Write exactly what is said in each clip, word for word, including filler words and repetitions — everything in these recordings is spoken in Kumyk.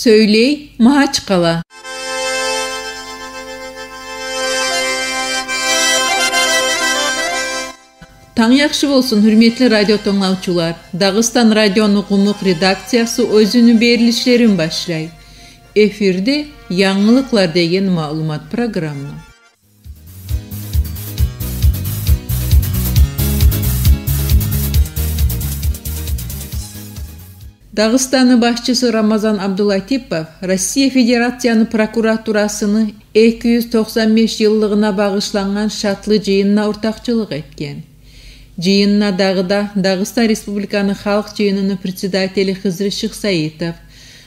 Сёйлей Магьачкъала. Танг яхшы болсун, гьюрметли радио тынглавчулар. Дагъыстан радиону къумукъ редакциясы оьзюню берилишлерин башлай. Эфирде «Янгылыкълар» деген маълумат программа. Дагъыстанны башчысы Рамазан Абдулатипов Россия Федерацияны прокуратурасыны эки юз токъсан беш йыллыгъына багъышлангъан шатлы жыйынына ортакъчылыкъ этген. Жыйынына дагъы да Дагъыстан Республиканы Халкъ Жыйыныны председатели Хизри Шихсаитов,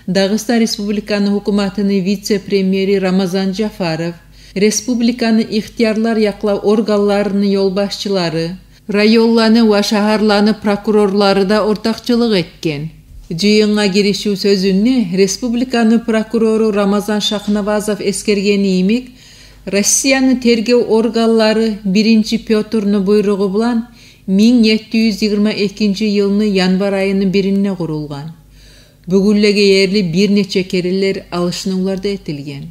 Дагъыстан Республиканы гьукуматыны вице-премьери Рамазан Жафаров, республиканы ихтиярлар якълав органларыны ёлбашчылары, районланы ва шагьарланы прокурорлары да ортакъчылыкъ этген. Жыйынгъа гиришив сёзюнде республиканы прокурору Рамазан Шахнавазов эсгергени йимик, Россияны тергев органлары биринчи Пётрну буйругъу булан минг етти юз йигирма экинчи йылны январь айыны биринде къурулгъан. Бюгюнлеге ерли бир нече керенлер алышынывлар да этилген.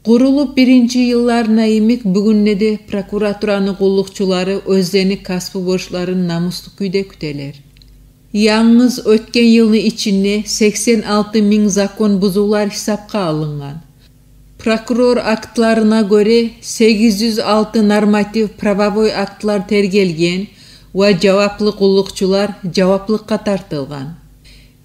Къурулуп биринчи йылларына йимик, бюгюнде де прокуратураны къуллукъчулары оьзлени касбу борчларын намуслу кюйде кютелер. Янгыз оьтген йылны ичинде сексен алты минг закон бузувлар гьисапгъа алынгъан. Прокурор актларына гёре, сегиз юз алты норматив-правовой актлар тергелген ва жаваплы къуллукъчулар жаваплыкъгъа тартылгъан.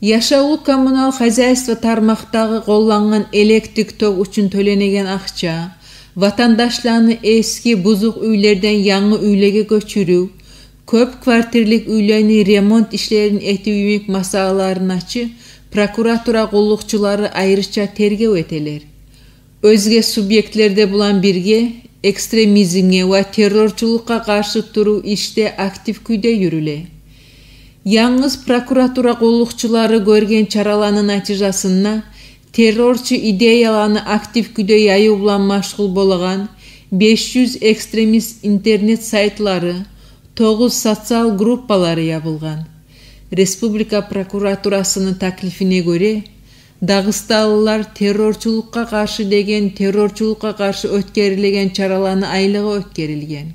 Яшавлу-коммунал хозяйство тармакъдагъы къоллангъан электрик ток учун тёленеген акъча, ватандашланы эски бузукъ уьйлерден янгы уьйлеге гёчюрюв, кёп квартирлик уьйлени ремонт ишлерин этив йимик масъалаларын ачы прокуратура къуллукъчулары айрыча тергев этелер. Оьзге субъектлер де булан бирге экстремизмге ва террорчулукъгъа къаршы турув ишде актив кюйде юрюле. Янгыз прокуратура къуллукъчулары гёрген чараланы натижасында террорчу идеяланы актив кюйде яюв булан машгъул болагъан беш юз экстремист интернет сайтлары, тогъуз социал группалары ябылгъан. Республика прокуратурасыны таклифине гёре, дагъыстанлылар террорчулукъгъа къаршы деген террорчулукъгъа къаршы оьтгерилеген чараланы айлыгъы оьтгерилген.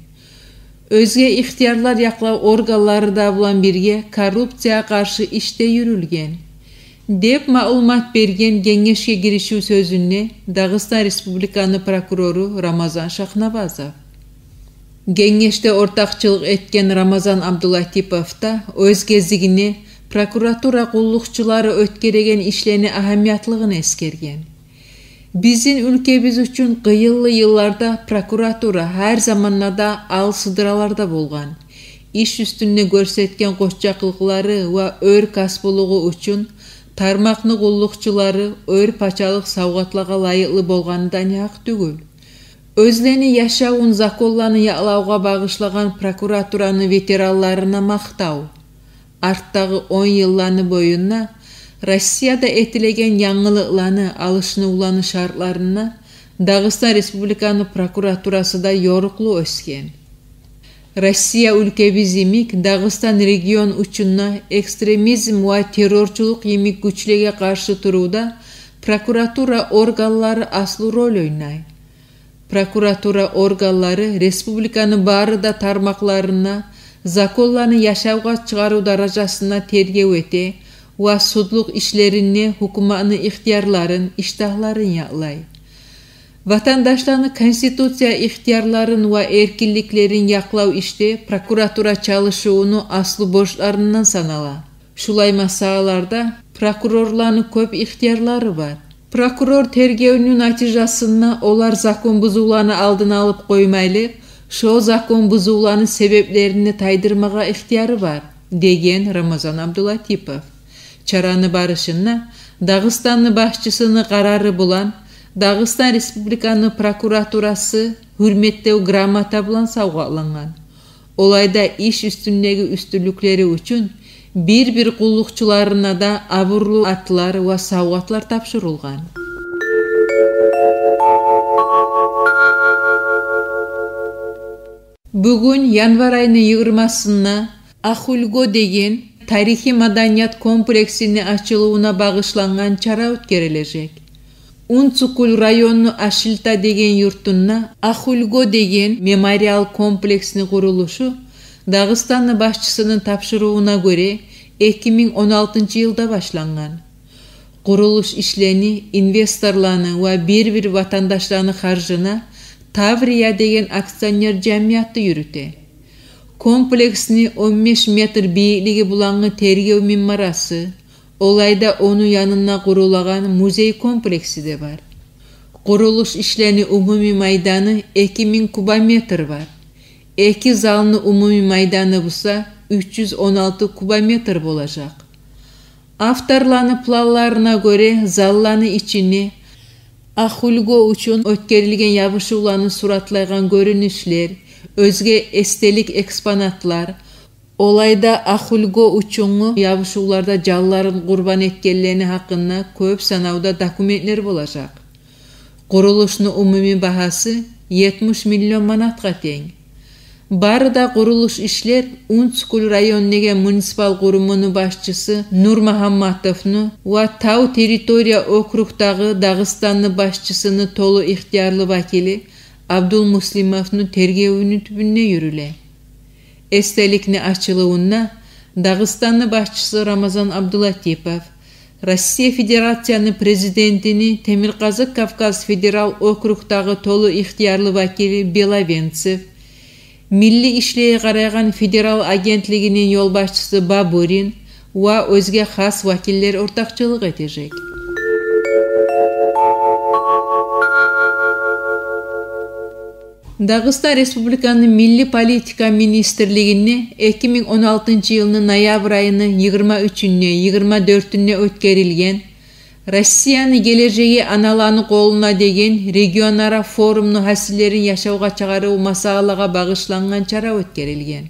Оьзге ихтиярлар якълав органлары да булан бирге коррупциягъа къаршы иш де юрюлген, деп маълумат берген генгешге гиришив сёзюнде Дагъыстан Республиканы прокурору Рамазан Шахнавазов. Генгешде ортакъчылыкъ этген Рамазан Абдулатипов да оьз гезигинде прокуратура къуллукъчулары оьтгереген ишлени агьамиятлыгъын эсгерген. Бизин уьлкебиз учун къыйынлы йылларда прокуратура гьар заманда да ал сыдыраларда болгъан. Иш уьстюнде гёрсетген къоччакълыкълары ва оьр касбулугъу учун тармакъны къуллукъчулары оьр пачалыкъ савгъатлагъа лайыкълы болгъаны да негьакъ тюгюл. Оьзлени яшавун законланы якълавгъа багъышлагъан прокуратураны ветеранларына макътав. Артдагъы он йылланы боюнда Россияда этилеген янгылыкъланы, алышынывланы шартларында Дагъыстан Республиканы прокуратурасы да ёрукълу оьсген. Россия уьлкебиз йимик, Дагъыстан регион учун да экстремизм ва террорчулукъ йимик гючлеге къаршы турувда прокуратура органлары аслу роль ойнай. Прокуратура органлары республиканы бары да тармакъларында законланы яшавгъа чыгъарыв даражасында тергев эте ва судлукъ ишлеринде гьукуматны ихтиярларын, иштагьларын якълай. Ватандашланы конституция ихтиярларын ва эркинликлерин якълав ишде прокуратура чалышывуну аслу борчларындан санала. Шулай масъалаларда прокурорланы кёп ихтиярлары бар. Прокурор тергевню натижасында олар закон бузувланы алдын алып къоймайлы, шо закон бузувланы себеплерин де тайдырмагъа ихтияры бар, деген Рамазан Абдулатипов. Чараны барышында Дагъыстанны башчысыны къарары булан Дагъыстан Республиканы прокуратурасы гьюрметлев грамота булан савгъатлангъан. Олайда иш уьстюндеги уьстюнлюклери учун бир-бир къуллукъчуларына да абурлу атлар ва савгъатлар тапшурулгъан. Бугюн, январь айны йигирмасында, «Ахульго» деген тарихи-маданият комплексини ачылывуна багъышлангъан чара оьтгерилежек. Унцукуль районну Ашильта деген юртунда Ахульго деген мемориал комплексни къурулушу, Дагъыстанны башчысыны тапшурувуна гёре, эки минг он алтынчы йылда башлангъан. Къурулуш ишлени инвесторланы ва бир-бир ватандашланы харжына Таврия деген акционер жамияты юрюте. Комплексни он беш метр бийиклиги булангъы тергев минбарасы, олайда ону янында къурулагъан музей комплекси де бар. Къурулуш ишлени умумий майданы эки минг кубометр бар. Эки залны умумий майданы буса уьч юз он алты кубометр болажакъ. Авторланы планларына гёре, залланы ичине Ахульго учун оьтгерилген ябушувланы суратлайгъан гёрюнюшлер, оьзге эсделик экспонатлар, олайда Ахульго учунгъу ябушувларда жанларын къурбан этгенлени гьакъында кёп санавда документлер болажакъ. Къурулушну умумий багьасы етмиш миллион манатгъа тенг. Бары да къурулуш ишлер Унцукуль район деген муниципал къурумуну башчысы Нурмагьамматовну ва Тав территория округдагъы Дагъыстанны башчысыны толу ихтиярлы вакили Абдулмуслимовну тергевюню тюбюнде юрюле. Эсделикни ачылывунда Дагъыстанны башчысы Рамазан Абдулатипов, Россия Федерацияны Президентини Темиркъазыкъ Кавказ федерал округдагъы толу ихтиярлы вакили Беловенцев, милли ишлеге къарайгъан федерал агентлигини ёлбашчысы Бабурин ва оьзге хас вакиллер ортакъчылыкъ этежек. Дагъыстан Республиканы Милли политика министрлигинде эки минг он алтынчы йылны ноябрь айыны йигирма уьчюнде, йигирма дёртюнде оьтгерилген «Россияны гележеги аналаны къолунда» деген регионара форумну гьасиллерин яшавгъа чыгъарыв масъалагъа багъышлангъан чара оьтгерилген.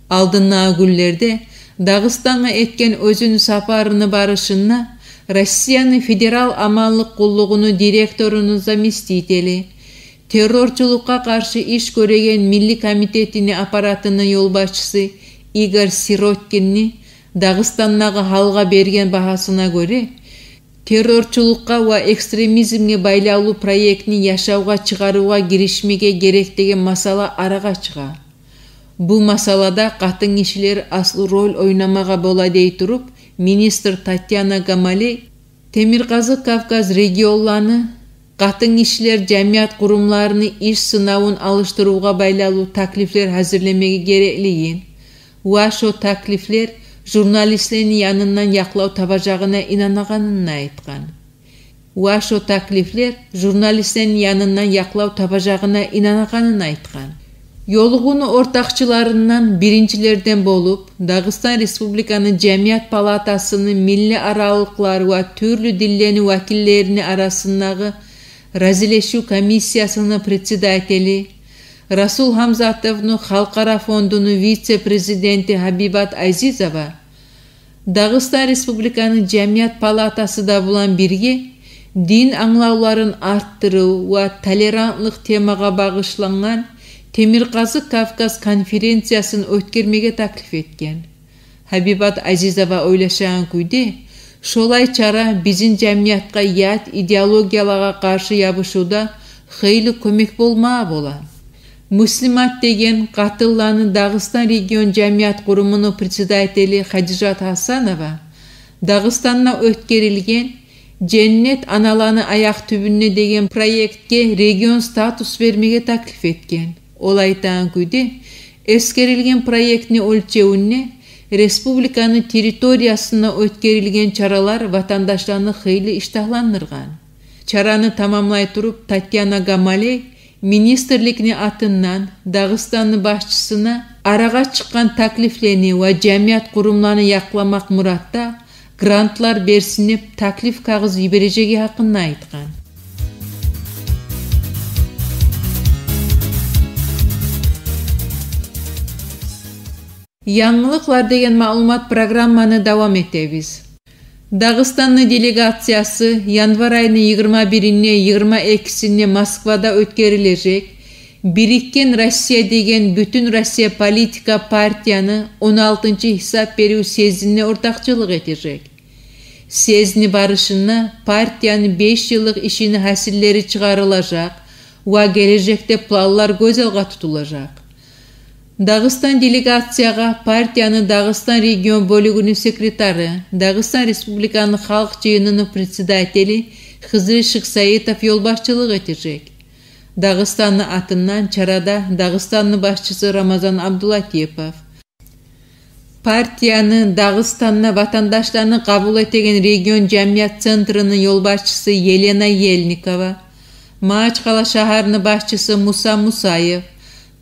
Алдындагъы гюнлерде Дагъыстангъа этген оьзюню сапарыны барышында Россияны Федерал аманлыкъ къуллугъуну директоруну заместители, террорчулукъгъа къаршы иш гёреген Милли комитетини аппаратыны ёлбашчысы Игорь Сироткинни Дагъыстандагъы гьалгъа берген багьасына гёре, террорчулукъгъа ва экстремизмге байлавлу проектни яшавгъа чыгъарывгъа гиришмеге герек деген масъала арагъа чыгъа. Бу масъалада къатынгишилер аслу роль ойнамагъа бола дей туруп, министр Татьяна Гамалей Темиркъазыкъ Кавказ регионланы къатынгишилер жамият къурумларыны иш сынавун алышдырывгъа байлавлу таклифлер гьазирлемеге гереклигин ва шо таклифлер журналистлени янындан якълав табажагъына инанагъанын айтгъан. Ва шо таклифлер журналистлени янындан якълав табажагъына инанагъанын айтгъан. Ёлугъувну ортакъчыларындан биринчилерден болуп, Дагъыстан Республиканы Жамият палатасыны миллиаралыкълар ва тюрлю динлени вакиллерини арасындагъы разилешив комиссиясыны председатели, Расул Гьамзатовну Халкъара фондуну вице-президенти Гьабибат Азизова, Дагъыстан Республиканы Жамият палатасы да булан бирге дин англавларын артдырыв ва толерантлыкъ темагъа багъышлангъан Темиркъазыкъ Кавказ конференциясын оьтгермеге таклиф этген. Гьабибат Азизова ойлашагъан кюйде, шолай чара бизин жамиятгъа ят идеологиялагъа къаршы ябушувда хыйлы кёмек болмагъа бола. Муслимат деген къатынланы Дагъыстан регион жамият къурумуну председатели Хадижат Гьасанова Дагъыстанда оьтгерилген «Женнет аналаны аякъ тюбюнде» деген проектге регион статус бермеге таклиф этген. Ол айтагъан кюйде, эсгерилген проектни оьлчевюнде республиканы территориясында оьтгерилген чаралар ватандашланы хыйлы иштагьландыргъан. Чараны тамамлай туруп, Татьяна Гамалей министрликни атындан Дагъыстанны башчысына арагъа чыкъгъан таклифлени ва жамият къурумланы якъламакъ муратда грантлар берсин деп таклиф кагъыз йибережеги гьакъында айтгъан. Янгылыкълар деген маълумат программаны давам этебиз. Дагъыстанны делегациясы январь айны йигирма биринде, йигирма экисинде Москвада оьтгерилежек «Бирикген Россия» деген бютюн Россия политика партияны он алтынчы гьисап берив съездине ортакъчылыкъ этежек. Съездини барышында партияны беш йыллыкъ ишини гьасиллери чыгъарылажакъ ва гележекде планлар гёз алгъа тутулажакъ. Дагъыстан делегациягъа партияны Дагъыстан регион бёлюгюню секретары, Дагъыстан Республиканы Халкъ Жыйыныны председатели Хизри Шыксаитов ёлбашчылыкъ этежек. Дагъыстанны атындан чарада Дагъыстанны башчысы Рамазан Абдулатипов, партияны Дагъыстанда ватандашланы къабул этеген регион жамият центрини ёлбашчысы Елена Ельникова, Магьачкъала шагьарны башчысы Муса Мусаев,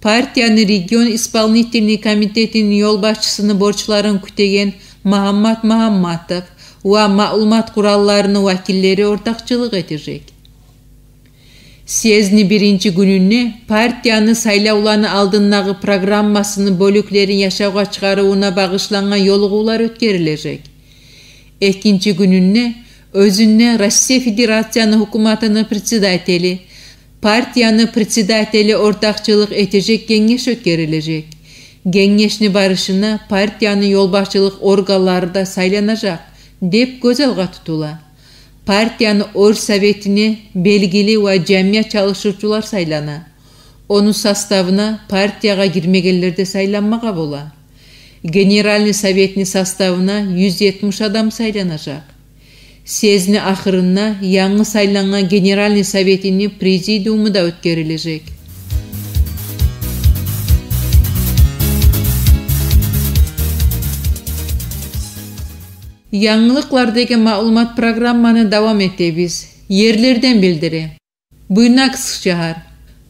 партияны регион исполнительный комитетини ёлбашчысыны борчларын кютеген Магьаммат Магьамматов ва маълумат къуралларыны вакиллери ортакъчылыкъ этежек. Съездини биринчи гюнюнде партияны сайлавланы алдындагъы программасыны бёлюклерин яшавгъа чыгъарывуна багъышлангъан ёлугъувлар оьтгерилежек. Экинчи гюнюнде оьзюнде Россия Федерацияны гьукуматыны председатели, партияны председатели ортакъчылыкъ этежек генгеш оьтгерилежек. Генгешни барышына партияны ёлбашчылыкъ органлары да сайланажакъ деп гёз алгъа тутула. Партияны Оргсоветине белгили ва жамият чалышывчулар сайлана. Ону составына партиягъа гирмегенлер де сайланмагъа бола. Генеральный советни составына юз етмиш адам сайланажакъ. Съездини ахырында янгы сайлангъан Генеральный советини президиуму да оьтгерилежек. Янгылыкълар деген маълумат программаны давам этебиз. Ерлерден билдире. Буйнакск шагьар.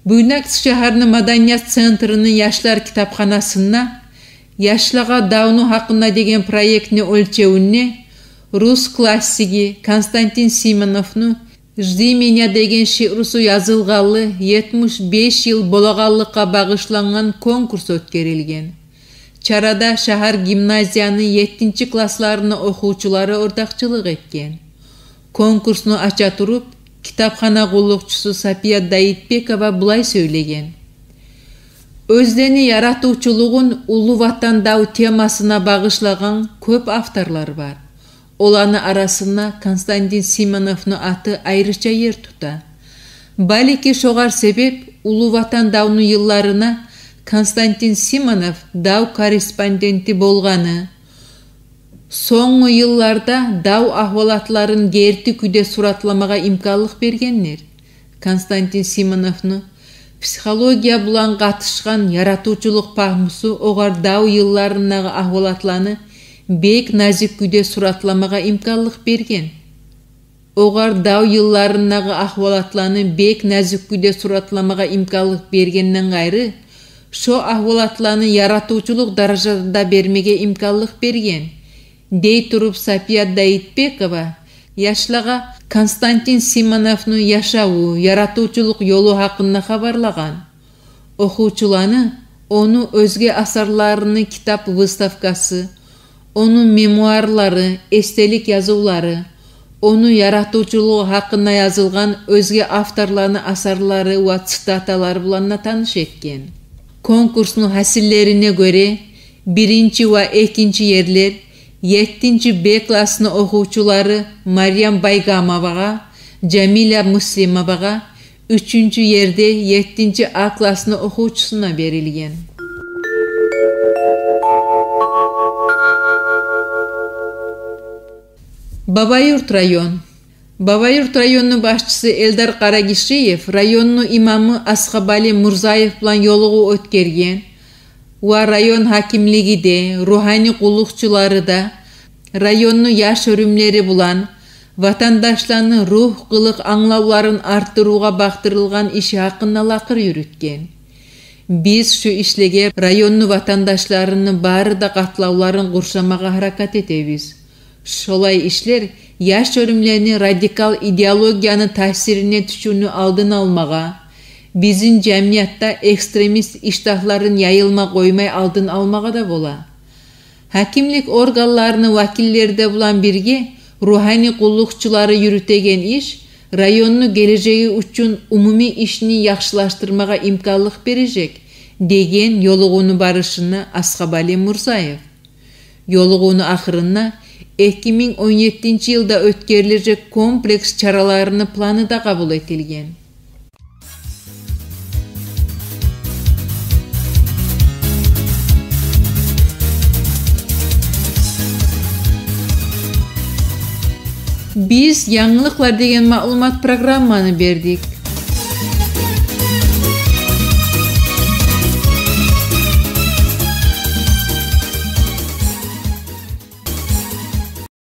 Буйнакск шагьарны маданият центрини яшлар китапханасында «Яшлагъа давну гьакъында» деген проектни оьлчевюнде рус классиги Константин Симоновну «Жди меня» деген шиърусу язылгъанлы етмиш беш йыл болагъанлыкъгъа багъышлангъан конкурс оьтгерилген. Чарада шагьар гимназияны еттинчи классларыны охувчулары ортакъчылыкъ этген. Конкурсну ача туруп, китапхана къуллукъчусу Сапия Даитбекова булай сёйлеген: Оьзлени яратывчулугъун Уллу Ватан дав темасына багъышлагъан кёп авторлар бар. Оланы арасында Константин Симоновну аты айрыча ер тута. Балики, шогъар себеп Уллу Ватан давну йылларына Константин Симонов дав корреспонденти болгъаны, сонггъу йылларда дав агьвалатларын герти кюйде суратламагъа имканлыкъ бергендир. Константин Симоновну психология булан къатышгъан яратывчулукъ пагьмусу огъар дав йылларындагъы агьвалатланы бек назик кюйде суратламагъа имканлыкъ берген. Огъар дав йылларындагъы агьвалатланы бек назик кюйде суратламагъа имканлыкъ бергенден къайры, шо агьвалатланы яратывчулукъ даражада да бермеге имканлыкъ берген, дей туруп Сапия Даитбекова яшлагъа Константин Симоновну яшаву, яратывчулукъ ёлу гьакъында хабарлагъан. Охувчуланы ону оьзге асарларыны китап выставкасы, ону мемуарлары, эсделик язывлары, ону яратывчулугъу гьакъында язылгъан оьзге авторланы асарлары ва цитаталары булан да таныш этген. Конкурсну гьасиллерине гёре, биринчи ва экинчи ерлер еттинчи Б классны охувчулары Марьям Байгамовагъа, Жамиля Муслимовагъа, уьчюнчю ер де еттинчи А классны охувчусуна берилген. Бабаюрт район. Бабаюрт районну башчысы Эльдар Къарагишиев районну имамы Асхабали Мурзаев булан ёлугъув оьтгерген ва район гьакимлиги де, ругьани къуллукъчулары да районну яш оьрюмлери булан ватандашланы ругь-къылыкъ англавларын артдырывгъа бакъдырылгъан иши гьакъында лакъыр юрютген. Биз шу ишлеге районну ватандашларыны бары да къатлавларын къуршамагъа гьаракат этебиз. Шолай ишлер яш оьрюмлени радикал идеологияны таъсирине тюшювню алдын алмагъа, бизин жамиятда экстремист иштагьларын яйылма къоймай алдын алмагъа да бола. Гьакимлик органларыны вакиллери де булан бирге ругьани къуллукъчулары юрютеген иш районну гележеги учун умумий ишни яхшылаштырмагъа имканлыкъ бережек, — деген ёлугъувну барышында Асхабали Мурзаев. Ёлугъувну ахырында эки минг он еттинчи йылда оьтгерилежек комплекс чараларыны планы да къабул этилген. Биз янгылыкълар деген маълумат программаны бердик.